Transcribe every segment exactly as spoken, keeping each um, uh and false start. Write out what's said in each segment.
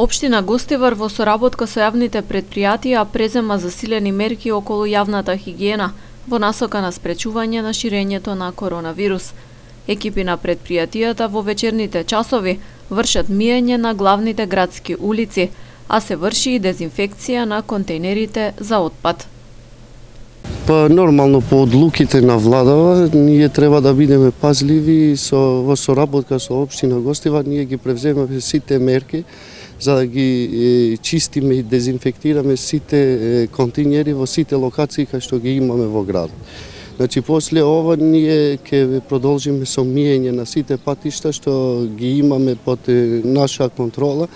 Општина Гостивар во соработка со јавните претпријатија презема засилени мерки околу јавната хигиена во насока на спречување на ширењето на коронавирус. Екипи на претпријатијата во вечерните часови вршат миење на главните градски улици, а се врши и дезинфекција на контейнерите за отпад. Па нормално по одлуките на владава ние треба да бидеме пазливи со во соработка со општина Гостивар, ние ги превземаме сите мерки за да ги е, чистиме и дезинфектираме сите е, контейнери во сите локации кај што ги имаме во градот. Значи после ова ние ќе продолжиме со миење на сите патишта што ги имаме под е, наша контрола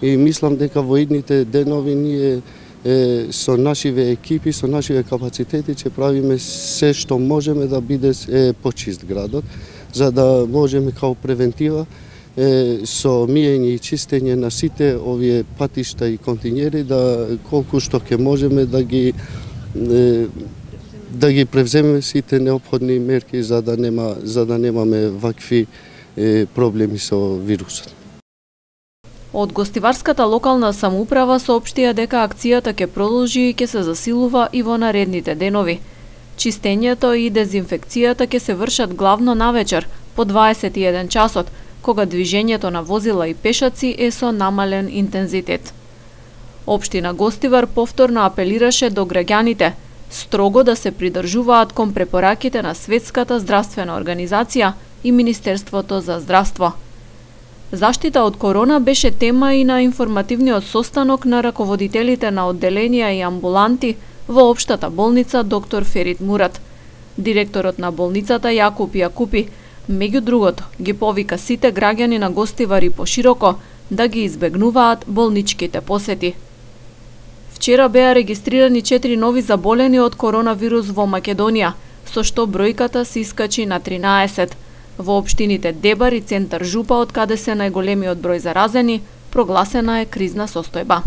и мислам дека во идните денови ние е, со нашиве екипи, со нашиве капацитети ќе правиме се што можеме да биде е, почист градот, за да можеме као превентива е, со миење и чистење на сите овие патишта и контейнери да колку што ќе можеме да ги е, да ги превземеме сите неопходни мерки за да нема за да немаме вакви е, проблеми со вирусот. Од Гостиварската локална самоуправа соопштија дека акцијата ќе продолжи и ќе се засилува и во наредните денови. Чистењето и дезинфекцијата ќе се вршат главно навечер по дваесет и еден часот, кога движењето на возила и пешаци е со намален интензитет. Општина Гостивар повторно апелираше до граѓаните строго да се придржуваат кон препораките на Светската здравствена организација и Министерството за здравство. Заштита од корона беше тема и на информативниот состанок на раководителите на одделенија и амбуланти во Општата болница доктор Ферит Мурат. Директорот на болницата Јакуп Јакупи, меѓу другото, ги повика сите граѓани на Гостивар и пошироко да ги избегнуваат болничките посети. Вчера беа регистрирани четири нови заболени од коронавирус во Македонија, со што бројката се искачи на тринаесет. Во општините Дебар и Центар Жупа, од каде се најголемиот број заразени, прогласена е кризна состојба.